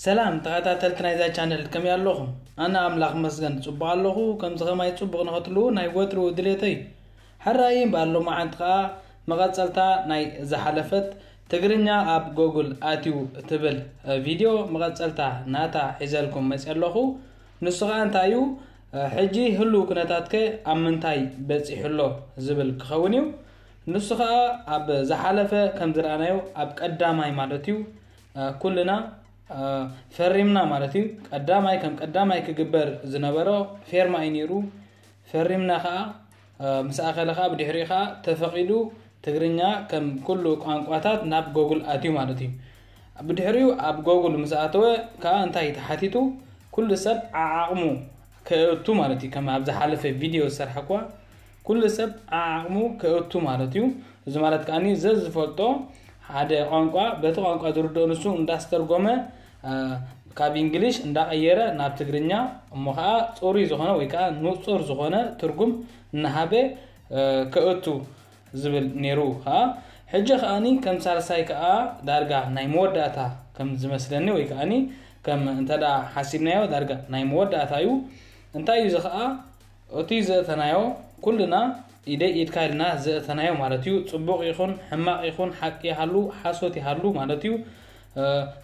ሰላም ተኸታተልቲ ናይዛ ቻነል፣ ከመይ ኣለኹም? ኣነ ኣምላኽ መስገን ጽቡቕ ኣለኹ። ከምዚ ኸማይ ጽቡቕ ንኸትልዉ ናይ ወትሩ ድሌተይ። ሕራይ እምበኣር ሎማዓንቲ ኸኣ መቐጸልታ ናይ ዝሓለፈት ትግርኛ ኣብ ጎግል ኣትዩ እትብል ቪድዮ መቐጸልታ ናታ ሒዘልኩም መጽየ ኣለኹ። ንሱ ኸኣ እንታይ እዩ? ሕጂ ህሉው ኩነታትከ ኣብ ምንታይ በጺሑ ኣሎ ዝብል ክኸውን እዩ። ንሱ ኸኣ ኣብ ዝሓለፈ ከም ዝረኣናዮ ኣብ ቀዳማይ ማለት እዩ፣ ኩልና ፈሪምና ማለት እዩ። ቀዳማይ ከም ቀዳማይ ክግበር ዝነበሮ ፌርማ እዩ ነይሩ። ፈሪምና ኸኣ ምስ ኣኸለ ኸኣ ብድሕሪኡ ኸኣ ተፈቒዱ ትግርኛ ከም ኩሉ ቋንቋታት ናብ ጎግል ኣትዩ ማለት እዩ። ብድሕሪኡ ኣብ ጎግል ምስ ኣተወ ከኣ እንታይ ተሓቲቱ? ኩሉ ሰብ ዓዓቕሙ ከእቱ ማለት እዩ። ከም ኣብ ዝሓለፈ ቪድዮ ዝሰርሐኳ ኩሉ ሰብ ዓዓቕሙ ከእቱ ማለት እዩ። እዚ ማለት ከኣ ዘዝፈልጦ ሓደ ቋንቋ በቲ ቋንቋ ዝርድኦ ንሱ እንዳስተርጎመ ካብ እንግሊሽ እንዳቐየረ ናብ ትግርኛ እሞ ኸኣ ጽሩይ ዝኾነ ወይ ከኣ ንጹር ዝኾነ ትርጉም እናሃበ ከእቱ ዝብል ነይሩ ኸኣ። ሕጂ ከኣኒ ከም ሳልሳይ ከኣ ዳርጋ ናይ መወዳእታ ከም ዝመስለኒ ወይ ከኣኒ ከም እንተ ደኣ ሓሲብናዮ ዳርጋ ናይ መወዳእታ እዩ። እንታይ እዩ እዚ ኸኣ? እቲ ዘእተናዮ ኩልና ኢደይ ኢድካ ኢልና ዘእተናዮ ማለት እዩ። ጽቡቕ ይኹን ሕማቕ ይኹን ሓቂ ይሃሉ ሓሶት ይሃሉ ማለት እዩ።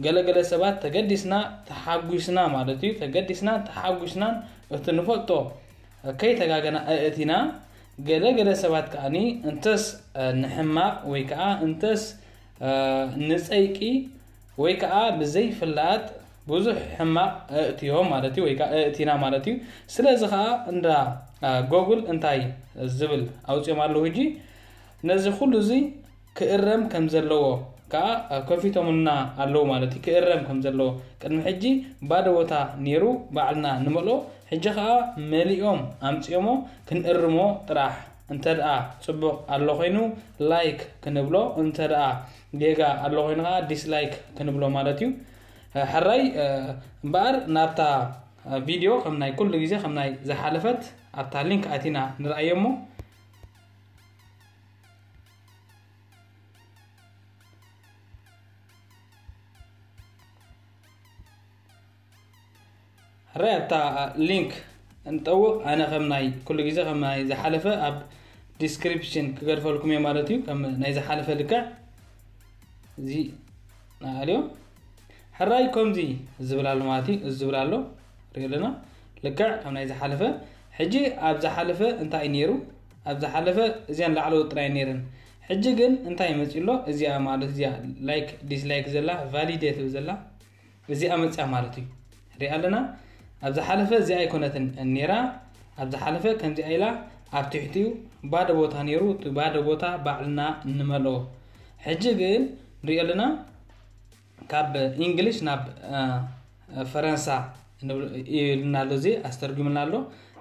ገለገለ ሰባት ተገዲስና ተሓጒስና ማለት እዩ። ተገዲስና ተሓጒስናን እቲ ንፈልጦ ከይተጋገና ኣእቲና። ገለገለ ሰባት ከኣኒ እንተስ ንሕማቕ ወይ ከዓ እንተስ ንጸይቂ ወይ ከዓ ብዘይፍላጥ ብዙሕ ሕማቕ ኣእትዮም ማለት እዩ፣ ወይ ከዓ ኣእቲና ማለት እዩ። ስለዚ ከዓ እንዳ ጎግል እንታይ ዝብል ኣውፅኦም ኣለዉ ሕጂ? ነዚ ኩሉ እዚ ክእረም ከም ዘለዎ ከዓ ከፊቶምልና ኣለዉ ማለት እዩ። ክእረም ከም ዘለዎ ቅድሚ ሕጂ ባዶ ቦታ ነይሩ ባዕልና ንመልኦ፣ ሕጂ ከዓ መሊኦም ኣምፅኦሞ። ክንእርሞ ጥራሕ። እንተ ደኣ ጽቡቕ ኣሎ ኮይኑ ላይክ ክንብሎ፣ እንተ ደኣ ጌጋ ኣሎ ኮይኑ ከዓ ዲስላይክ ክንብሎ ማለት እዩ። ሕራይ እምበኣር ናብታ ቪድዮ ከም ናይ ኩሉ ግዜ ከም ናይ ዝሓለፈት ኣብታ ሊንክ ኣቲና ንርኣዮ እሞ። ሕራይ ኣብታ ሊንክ እንጠውቕ። ኣነ ከም ናይ ኩሉ ግዜ ከም ናይ ዝሓለፈ ኣብ ዲስክሪፕሽን ክገድፈልኩም እየ ማለት እዩ። ከም ናይ ዝሓለፈ ልክዕ እዚ ንኣልዮ ሕራይ ከምዚ ዝብል ኣሎ ማለት እዩ። እዚ ዝብል ኣሎ ሪኦ ኣለና ልክዕ ከም ናይ ዝሓለፈ። ሕጂ ኣብ ዝሓለፈ እንታይ እዩ ነይሩ? ኣብ ዝሓለፈ እዚኣን ላዕለዎት ጥራይ ነይረን። ሕጂ ግን እንታይ መፂ ኣሎ? እዚኣ ማለት እዚኣ ላይክ ዲስላይክ ዘላ ቫሊዴት ዘላ እዚኣ መፅያ ማለት እዩ። ሪኣ ኣለና። ኣብ ዝሓለፈ እዚኣ ኣይኮነትን ነይራ። ኣብ ዝሓለፈ ከምዚኣ ኢላ ኣብ ትሕቲኡ ባዶ ቦታ ነይሩ። እቲ ባዶ ቦታ ባዕልና እንመልኦ። ሕጂ ግን ንሪኦ ኣለና። ካብ እንግሊሽ ናብ ፈረንሳ ኢልና ኣሎ፣ እዚ ኣስተርጉምልና ኣሎ።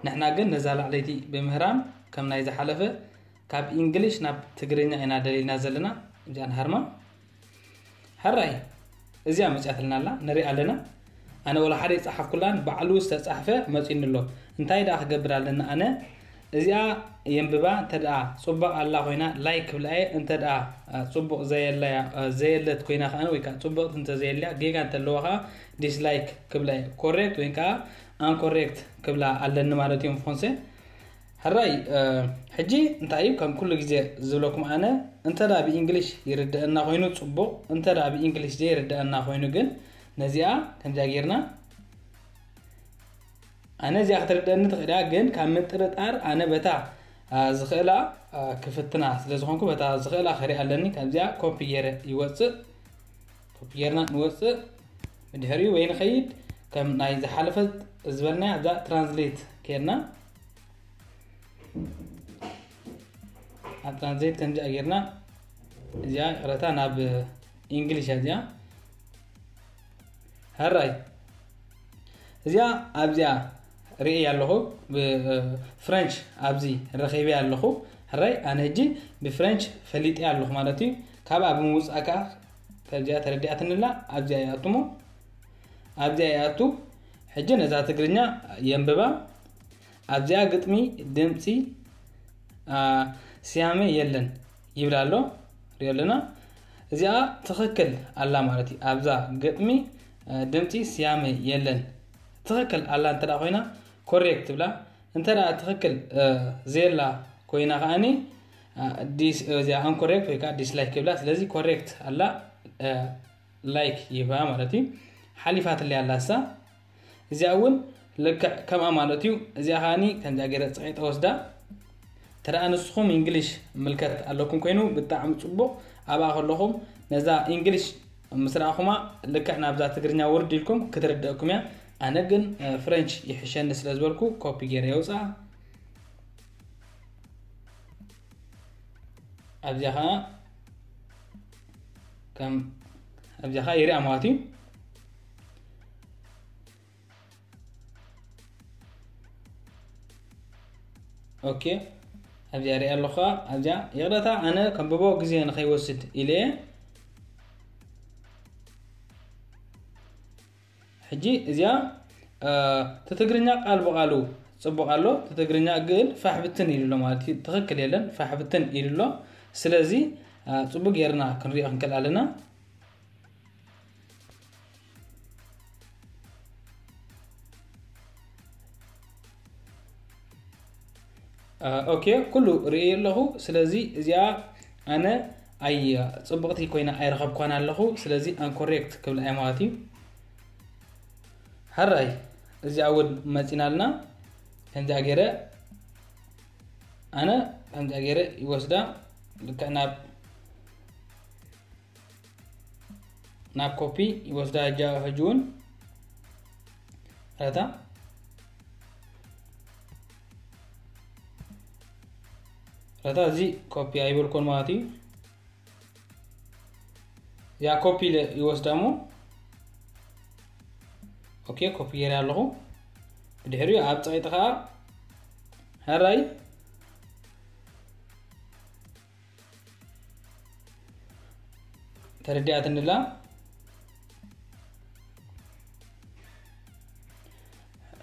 ንሕና ግን ነዛ ላዕለይቲ ብምህራም ከም ናይ ዝሓለፈ ካብ እንግሊሽ ናብ ትግርኛ ኢና ደሊልና ዘለና። እዚኣ ንሃርማ። ሕራይ እዚኣ መፅያትልና ኣላ፣ ንሪኣ ኣለና። ኣነ ወላ ሓደ ይፀሓፍኩላን ባዕሉ ዝተፃሕፈ መፂኒ ኣሎ። እንታይ ደኣ ክገብር ኣለና ኣነ? እዚኣ የንብባ። እንተ ደኣ ፅቡቕ ኣላ ኮይና ላይክ ክብላ እየ። እንተ ደኣ ፅቡቕ ዘየለያ ዘየለት ኮይና ከኣ ወይ ከዓ ፅቡቕቲ እንተዘየልያ ጌጋ እንተለዋ ከኣ ዲስላይክ ክብላ እየ። ኮሬክት ወይ ከዓ ኣንኮሬክት ክብላ ኣለኒ ማለት እዮም ፎንሴ። ሕራይ ሕጂ እንታይ እዩ ከም ኩሉ ግዜ ዝብለኩም ኣነ እንተ ደኣ ብእንግሊሽ ይርድአና ኮይኑ ፅቡቕ፣ እንተ ደኣ ብእንግሊሽ ዘይርድአና ኮይኑ ግን ነዚኣ ከምዚኣ ጌርና ኣነ እዚኣ ክትርደኒ ትኽእል እያ፣ ግን ካብ ምጥርጣር ኣነ በታ ዝኽእላ ክፍትና ስለ ዝኾንኩ በታ ዝኽእላ ክርኢ ኣለኒ። ካብዚኣ ኮፒ ገይረ ይወፅእ። ኮፒ ጌርና ንወፅእ። ብድሕሪኡ ወይ ንኸይድ ከም ናይ ዝሓለፈት ዝበልና ኣብዛ ትራንስሌት ኬድና ኣብ ትራንስሌት ከምዚኣ ጌርና እዚኣ ይቕረታ ናብ እንግሊሽ እያ እዚኣ። ሕራይ እዚኣ ኣብዚኣ ርእየ ኣለኹ። ብፍረንች ኣብዚ ረኺበ ኣለኹ። ሕራይ ኣነ ሕጂ ብፍረንች ፈሊጠ ኣለኹ ማለት እዩ። ካብኣ ብምውፃእ ከዓ ካብዚኣ ተረዲኣትንላ ኣብዚኣ ይኣቱሞ ኣብዚኣ ይኣቱ። ሕጂ ነዛ ትግርኛ የንብባ። ኣብዚኣ ግጥሚ ድምፂ ስያመ የለን ይብል ኣሎ። ሪኦ ኣለና። እዚኣ ትኽክል ኣላ ማለት እዩ። ኣብዛ ግጥሚ ድምፂ ስያመ የለን። ትኽክል ኣላ እንተ ኮይና ኮሬክት ትብላ። እንተ ትኽክል ዘየላ ኮይና ከዓኒ እዚኣ ኣንኮሬክት ወይ ከዓ ዲስላይክ ይብላ። ስለዚ ኮሬክት ኣላ፣ ላይክ ይባ ማለት እዩ። ሓሊፋትለይ ኣላ እሳ። እዚኣ እውን ልክዕ ከምኣ ማለት እዩ። እዚኣ ከዓኒ ከምዚኣ ገይረ ፀቂጠ ወስዳ። ተደኣ ንስኹም እንግሊሽ ምልከት ኣለኩም ኮይኑ ብጣዕሚ ፅቡቕ። ኣብኣ ከለኹም ነዛ እንግሊሽ ምስ ረኣኹማ ልክዕ ናብዛ ትግርኛ ውርድ ኢልኩም ክትርደእኩም እያ። ኣነ ግን ፍሬንች ይሕሸኒ ስለ ዝበልኩ ኮፒ ገይረ የውፅኣ። ኣብዚኣ ከዓ ከም ኣብዚኣ ከዓ ይሪኣ ማለት እዩ። ኦኬ፣ ኣብዚኣ ሪኣ ኣለኹ። ኣብዚኣ ይቕረታ፣ ኣነ ከንብቦ ግዜ ንኸይወስድ ኢለ እየ። ሕጂ እዚኣ እቲ ትግርኛ ቃል ብቓሉ ፅቡቕ ኣሎ። እቲ ትግርኛ ግን ፋሕ ብትን ኢሉ ኣሎ ማለት እዩ። ትኽክል የለን፣ ፋሕ ብትን ኢሉ ኣሎ። ስለዚ ፅቡቅ ጌርና ክንሪኦ ክንክእል ኣለና። ኦኬ፣ ኩሉ ርእየ ኣለኹ። ስለዚ እዚኣ ኣነ ኣይ ፅብቕቲ ኮይና ኣይረኸብኳን ኣለኹ። ስለዚ ኣንኮሬክት ክብላ እየ ማለት እዩ። ሕራይ እዚኣ እውን መፂናልና። ከምዚኣ ገይረ ኣነ ከምዚኣ ገይረ ይወስዳ። ልክዕ ናብ ናብ ኮፒ ይወስዳ። ሕጂ ሕጂ እውን ረታ ረታ እዚ ኮፒ ኣይበልኮን ማለት እዩ። ያ ኮፒ ይወስዳ እሞ ኦኬ፣ ኮፒ ገይረ ኣለኹ። ብድሕሪኡ ኣብ ፀቂጢ ከዓ ሕራይ ተረዲኣትንላ።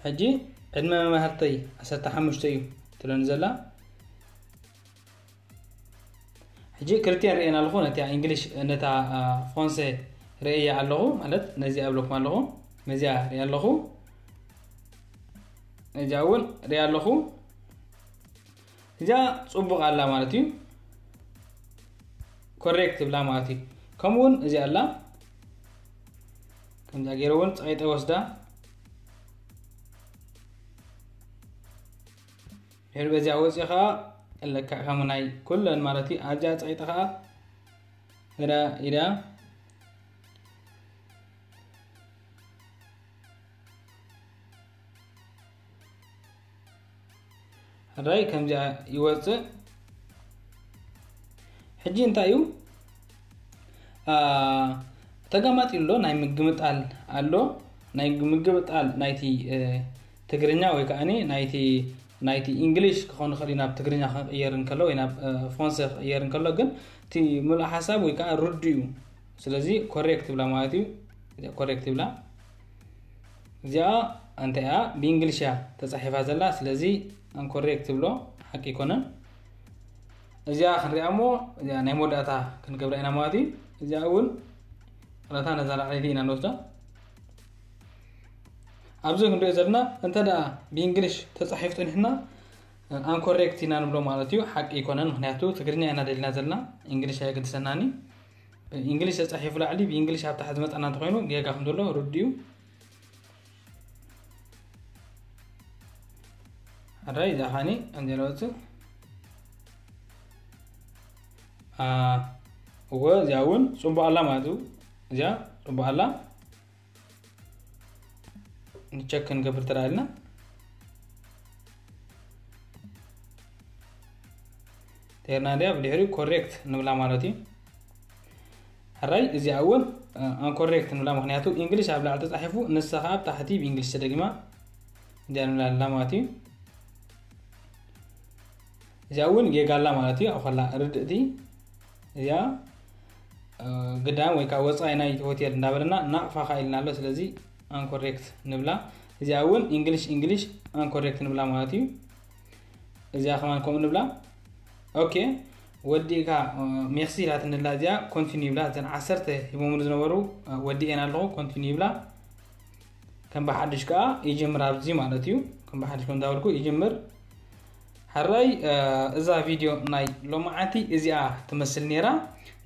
ሕጂ ዕድመ መማህርተይ ዓሰርተ ሓሙሽተ እዩ ትለኒ ዘላ። ሕጂ ክልቲኤን ርእየን ኣለኹ። ነታ እንግሊሽ፣ ነታ ፍራንሴ ርእየ ኣለኹ ማለት ነዚኣ እብለኩም ኣለኹ። ነዚኣ ርእየ ኣለኹ። ነዚኣ እውን ርእየ ኣለኹ። እዚኣ ጽቡቕ ኣላ ማለት እዩ። ኮሬክት ትብላ ማለት እዩ። ከምኡ እውን እዚኣ ኣላ። ከምዛ ገይረ እውን ጸቂጠ ወስዳ። ድሕሪ በዚኣ ወፂኡ ከዓ ለክዕ ከም ናይ ኩለን ማለት እዩ። ኣብዚኣ ጸቂጠ ከዓ እዳ ኢዳ ሕራይ ከምዚኣ ይወፅእ። ሕጂ እንታይ እዩ? ተጋማጢ ኣሎ፣ ናይ ምግምጣል ኣሎ። ናይ ምግምጣል ናይቲ ትግርኛ ወይ ከዓ ናይቲ ናይቲ እንግሊሽ ክኾን ይኽእል እዩ፣ ናብ ትግርኛ ክቕየር እንከሎ ወይ ናብ ፍራንሰ ክቕየር እንከሎ፣ ግን እቲ ምሉእ ሓሳብ ወይ ከዓ ርዱ እዩ። ስለዚ ኮሬክት ይብላ ማለት እዩ። ኮሬክት ይብላ። እዚኣ እንታይ እያ? ብእንግሊሽ እያ ተጻሒፋ ዘላ። ስለዚ ኣንኮሬክት ትብሎ ሓቂ ኣይኮነን። እዚኣ ክንሪኣ እሞ እዚኣ ናይ መወዳእታ ክንገብራ ኢና ማለት እዩ። እዚኣ እውን ረታ ነዛ ላዕለይቲ ኢና ንወስዳ። ኣብዚ ክንሪኦ ዘለና እንተ ደኣ ብእንግሊሽ ተጻሒፉ ጸኒሕና ኣንኮሬክት ኢና ንብሎ ማለት እዩ። ሓቂ ኣይኮነን፣ ምክንያቱ ትግርኛ ኢና ደሊና ዘለና፣ እንግሊሽ ኣየገድሰናኒ። እንግሊሽ ተጻሒፉ ላዕሊ ብእንግሊሽ ኣብ ታሕቲ ዝመጻና እንተኾይኑ ጌጋ ከም ዘሎ ርዱእ እዩ። ኣራይ እዛ ኻኒ ከምዚ ዝበለ ወፅእ እወ እዚኣ እውን ፅቡቅ ኣላ ማለት እዩ። እዚኣ ፅቡቅ ኣላ። ንቸክ ክንገብር ተራእልና ተርና እንዲያ ብድሕሪኡ ኮሬክት ንብላ ማለት እዩ። ሕራይ እዚኣ እውን ኣንኮሬክት ንብላ፣ ምክንያቱ እንግሊሽ ኣብ ላዕሊ ተፃሒፉ ንሳ ከዓ ኣብ ታሕቲ ብእንግሊሽ ተደጊማ እዚኣ ንብላ ኣለና ማለት እዩ። እዚኣ እውን ጌጋ ኣላ ማለት እዩ። ኣብ ከላ ርድእቲ እዚኣ ግዳም ወይ ከዓ ወፃኢ ናይ ሆቴል እንዳበለና ናቕፋ ከዓ ኢልና ኣሎ። ስለዚ ኣንኮሬክት ንብላ። እዚኣ እውን እንግሊሽ እንግሊሽ ኣንኮሬክት ንብላ ማለት እዩ። እዚኣ ከማን ከምኡ ንብላ። ኦኬ ወዲእካ ሜክሲ ኢላትንላ እዚኣ ኮንቲኒ ይብላ። እዘን ዓሰርተ ሂቦምኒ ዝነበሩ ወዲኤን ኣለኹ ኮንቲኒ ይብላ። ከም ብሓድሽ ከዓ ይጅምር ኣብዚ ማለት እዩ። ከም ብሓድሽ ከም እንዳበልኩ ይጅምር። ሕራይ እዛ ቪድዮ ናይ ሎማዓንቲ እዚኣ ትመስል ነይራ።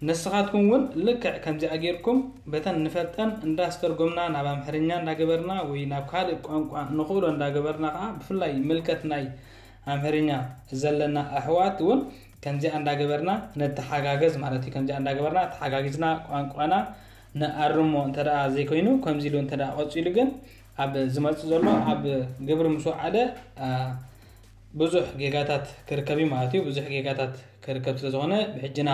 ንስኻትኩም እውን ልክዕ ከምዚኣ ጌርኩም በተን ንፈልጠን እንዳስተርጎምና ናብ ኣምሕርኛ እንዳገበርና ወይ ናብ ካልእ ቋንቋ ንኽእሎ እንዳገበርና ከዓ ብፍላይ ምልከት ናይ ኣምሕርኛ ዘለና ኣሕዋት እውን ከምዚኣ እንዳገበርና ነተሓጋገዝ ማለት እዩ። ከምዚኣ እንዳገበርና ተሓጋጊዝና ቋንቋና ንኣርሞ እንተ ደኣ ዘይኮይኑ ከምዚ ኢሉ እንተ ደኣ ቀጺሉ ግን ኣብ ዝመጽእ ዘሎ ኣብ ግብሪ ምስ ወዓለ ብዙሕ ጌጋታት ክርከብ እዩ ማለት እዩ። ብዙሕ ጌጋታት ክርከብ ስለ ዝኾነ ብሕጅና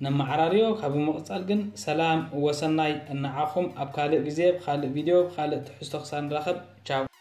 ነመዓራርዮ። ካብ ምቕጻል ግን ሰላም ወሰናይ እናዓኹም ኣብ ካልእ ግዜ ብካልእ ቪድዮ ብካልእ ትሕዝቶ ክሳብ ንራኸብ ቻው።